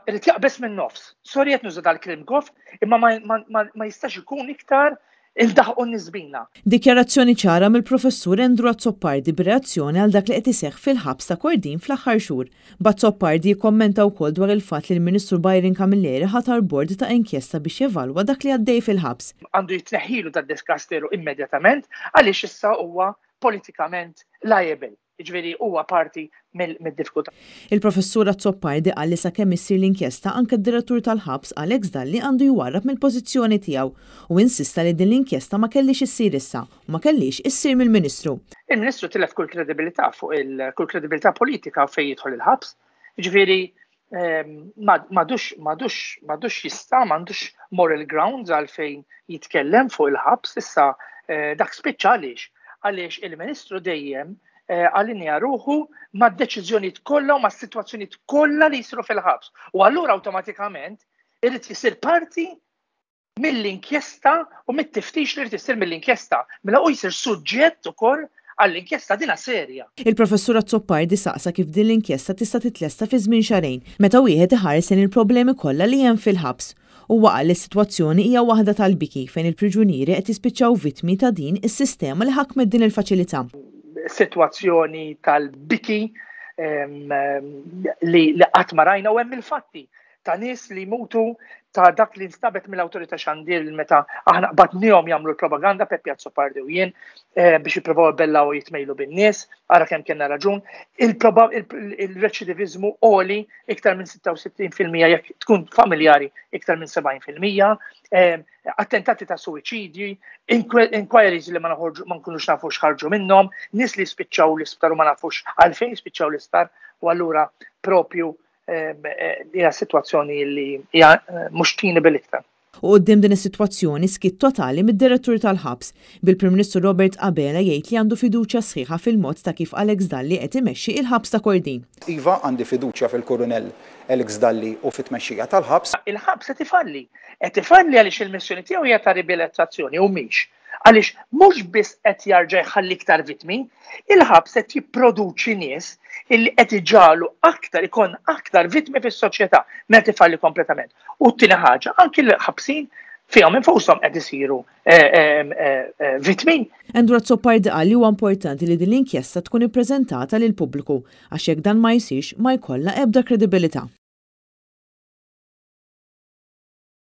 Irid jaqbeż min-nofs. Sorry qed nuża dal-kliem goff, imma ma jistax ikun iktar indaħqu n-nies bina. Dikjarazzjoni ċara mill-Professur Andrew Azzopardi b'reazzjoni għal dak li qed iseħħ fil-ħabs ta' Kordin fl-aħħar xhur. B'Azzopardi jikkommenta wkoll dwar il-fatt li l-Ministru Byron Camilleri ħatar bord ta' inkjesta biex jevalwa dak li għaddej fil-ħabs. Għandu jitneħħilu dad-dikasteru immedjatament għaliex issa huwa politikament liable. Jiġifieri huwa parti mid-diffikultà. Il-Professur Azzopardi qal li sakemm issir l-inkjesta anke d-Direttur tal-Ħabs Alex Dalli għandu jwarrab mill-pożizzjoni tiegħu u insista li din l-inkjesta ma kellhiex issir issa u ma kellhiex issir mill-Ministru. Il-Ministru tilef kull kredibilità fuq il kull kredibilità politika fejn jidħol il-ħabs. Jiġifieri m'għadux m'għadux m'għadux jista' m'għandux moral grounds għalfejn jitkellem fuq il-ħabs issa eh, dak spiċċa għaliex għaliex il-Ministru dejjem eh, allinja ruħu mad-deċiżjonijiet kollha u mas-sitwazzjonijiet kollha li jsiru fil-ħabs. U allura awtomatikament irid jisir parti mill-inkjesta u mit-tiftix li jrid isir mill-inkjesta. Mela hu jsir suġġett ukoll għall-inkjesta dina serja. Il-Professur Azzopardi saqsa kif din l-inkjesta tista' titlesta fi żmien xahrejn, meta wieħed iħares lejn il-problemi kollha li hemm fil-ħabs. Huwa qal li s-sitwazzjoni hija waħda tal-biki fejn il-priġunieri qed jispiċċaw vittmi ta' din is-sistema li ħakmet din il-faċilità. Sitwazzjoni tal-biki li qatt ma rajna u hemm il-fatti ta' nies li jmutu ta' dak li nstabet mill-awtorità xandir meta aħna qbadnihom jagħmlu l-propaganda Peppi Azzopardi u jien eh, biex jippruvaw ibellaw u jitmejlu bin-nies, ara kemm kellna raġun. Il-reċidiviżmu għoli iktar minn 66% jekk tkun familjari iktar minn 70%, eh, attentati ta' suwiċidji, inquiries li ma naħorġu ma nkunux nafu x'ħarġu minnhom, nies li spiċċaw l-isptar u ma nafux għalfejn spiċċaw l-isptar u allura propju hija sitwazzjoni li hija mhux tini bil-iktar. U quddiem din is-sitwazzjoni skiet totali mid-Direttur tal-Ħabs, bil-Prim Ministru Robert Abela jgħid li għandu fiduċja sħiħa fil-mod ta' kif Alex Dalli qed imexxi il-Ħabs ta' Kordin. Iva, għandi fiduċja fil-Kurunell Alex Dalli u fit-tmexxija tal-ħabs. Il-ħabs qed ifalli. Qed ifalli għaliex il-missjoni tiegħu hija ta' riabilitazzjoni u mhix. Għaliex mhux biss qed jarġa' jħalli iktar vittmi, il-ħabs qed jipproduċi nies illi qed iġagħlu aktar ikun aktar vittmi fis-soċjetà meta tifalli kompletament. U t-tieni ħaġa, anki l-ħabsin fihom infushom qed isiru eh, eh, eh, vittmi. Andrew Azzopardi qal li huwa importanti li din l-inkjesta tkun ippreżentata lill-pubbliku għax jekk dan ma jsirx ma jkollha ebda kredibilità.